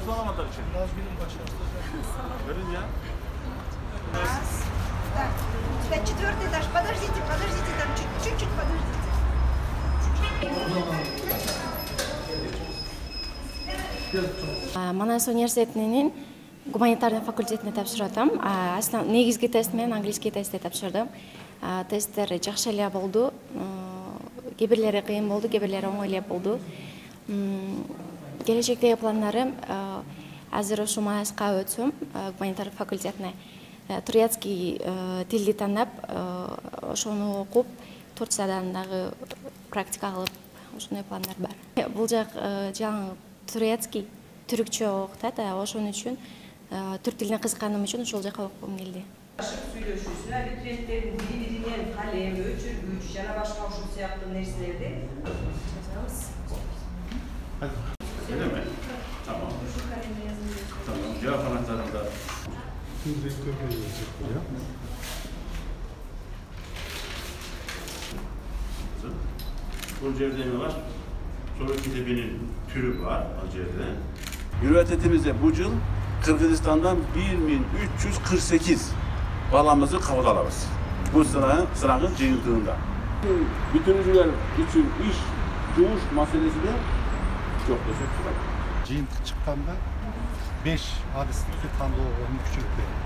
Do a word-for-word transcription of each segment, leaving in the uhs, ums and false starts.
başlamadılar için. Biraz günün başladı. Verin ya. Так, четвертый этаж. Подождите, подождите, там чуть-чуть подождите. Манас университетинин гуманитарный факультетине тапшырдым. Негизги тест менен английский тестти тапшырдым. Тесттер жакшы эле болду. Кээ бирлери кыйын болду, кээ бирлери оңой эле болду. Келечектеги пландарым азыр ушу Манаска өтсөм, гуманитарный факультетине турецкий тилди тандап, ошону окуп, Турциядан дагы практика кылып, ошондой пландар бар. Бул жак жаңы турецкий, түркчө окутат, ошон үчүн түрк тилине кызыкканым үчүн ошол жака окугум келди. Сүйлөшүүсүнө абитуриенттердин бири-биринен калем, өчүргүч жана башка ушул сыяктуу нерселерди жазабыз. Öyle mi? Tamam. Tamam. Cevap anahtarında. Bu cevdemi var. Sonra kitabinin türü var acerde. Üniversitemizde bu yıl Kırgızistan'dan bir bin üç yüz kırk sekiz balamızı kabul alırız. Bu sıranın, sıranın cihintığında. Bütüncüler için iş, cumuş meselesi de çok teşekkür ederim. Жыйынтык чыкканда беш адистикти тандоого мүмкүнчүлүк берди.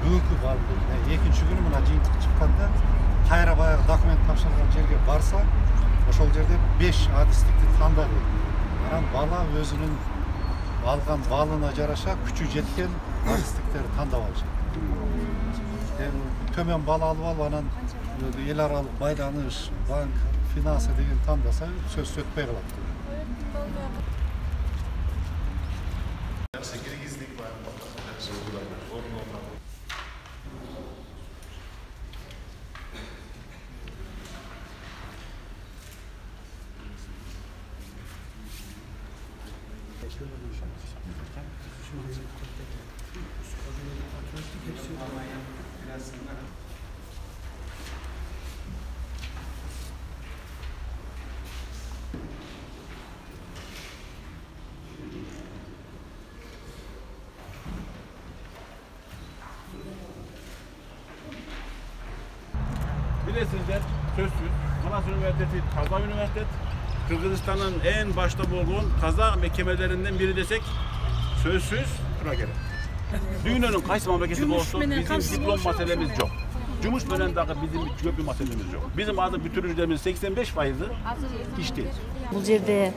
Бүгүнкү экинчи күнү мына жыйынтык чыкканда кайра баягы документ тапшырган жерге барса, ошол жерде беш адистикти тандады. Анан бала өзүнүн алган балына жараша күчү жеткен адистиктерди тандап алышат. Эми төмөн бала алып алып анан эл аралык байланыш, банк, финансы деген тандаса сөз өтпөй калат. Bilesizler, sözsüz. Manas Üniversitesi Kazak Üniversitet. Kırgızistan'ın en başta bulduğun Kazak mehkemelerinden biri desek sözsüz buna gerek. Dünyanın kaysı memleketi olsun bizim diplom meselemiz yok. Cumuş menen dağı bizim köp bir meselemiz yok. Bizim adı bütürücülerimiz seksen beş faizi iş değil. Бул жерде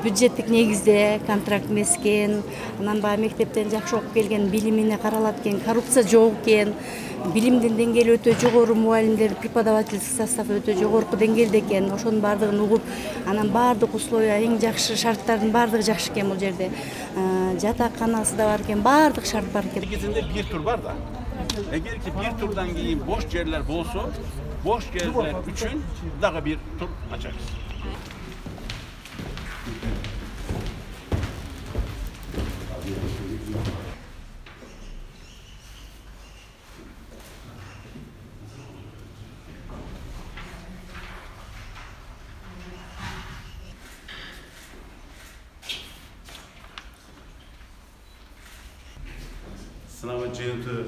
бюджеттик негизде контракт эмес экен, анан баягы мектептен жакшы окуп келген, билимине каралат экен, коррупция жок экен, билимдин деңгээли өтө жогору, мугалимдер, преподавательский состав өтө жогорку деңгээлде экен. Ошонун баардыгын угуп, анан баардык условия, эң жакшы шарттардын баардыгы жакшы экен бул жерде. Жатаканасы да бар экен, баардык шарт бар экен. İkisinde bir tur var da. Eğer ki bir turdan keyin boş yerler bolsa, boş yerler üçün daha bir tur açarız. Sınavın cihintı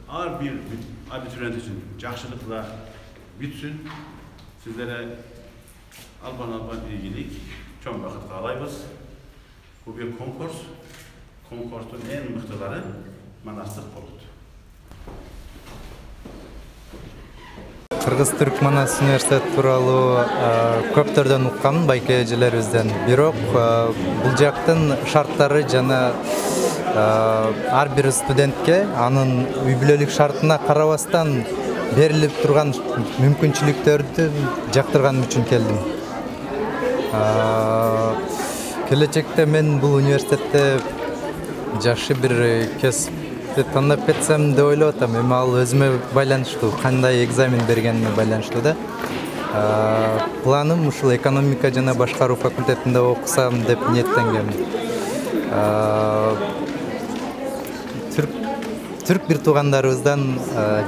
ağır bir abituriyent için jakşılıkla bitsin. Sizlere alban alban ilgilik, çok vakit kalayız. Bu bir konkurs. Konkursun en mıhtıları Manastır oldu. Кыргыз-Түрк Манас университет тууралуу көптөрдөн уккам байке эжелерибизден. Бирок бул жактын шарттары жана ар бир студентке анын үй бүлөлүк шартына карабастан берилип турган мүмкүнчүлүктөрдү жактырганым үчүн келдим. Келечекте мен бул университетте жакшы бир кесип тандап кетсем деп ойлоп атам. Эми ал өзүмө байланыштуу, кандай экзамен бергениме байланыштуу да. Планым ушул экономика жана башкаруу факультетинде окусам деп ниеттенгем. Түрк түрк бир туугандарыбыздан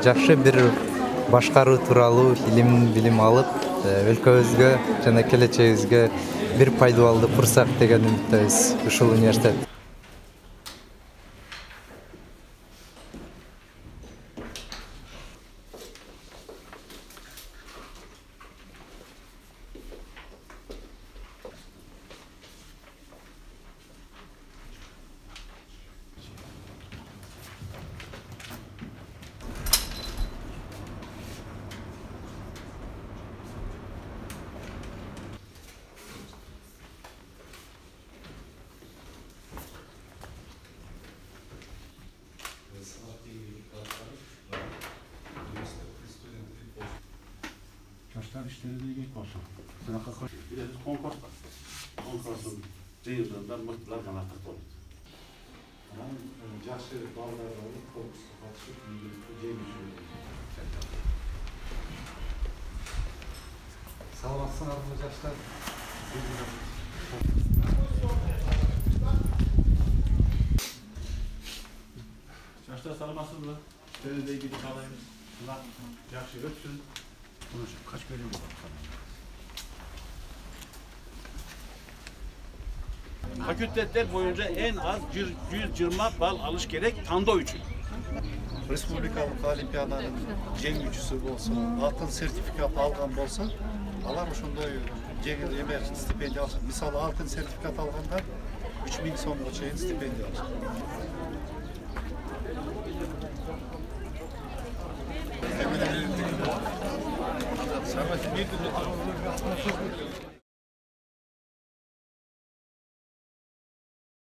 жакшы бир башкаруу тууралуу илим билим алып өлкөбүзгө жана келечегибизге бир пайдалуу фурсат деген үмүттөбүз ушул университет. Жаштар иштери деген болсун. Сынакка коюш. Бирөөбүз конкурс бар. Конкурстун жыйынтыгында мыктылар гана катышат. Анан жакшы балдар болуп, конкурска катышып, жеңишүү. Саламатсыңарбы жаштар? Жаштар саламатсызбы? Өздөрү каалайбыз. Сынак жакшы өтсүн. Kaç bölüm var? Fakülteler boyunca en az yüz yirmi bal alış gerek tandoo için. Республикалык олимпиаданын жеңүүчүсү болсо, алтын сертификат алган болсо, алар ошондой жеңил эме стипендия алышат. Мисалы, алтын сертификат алгандар үч миң сомго чейин стипендия алышат. Самый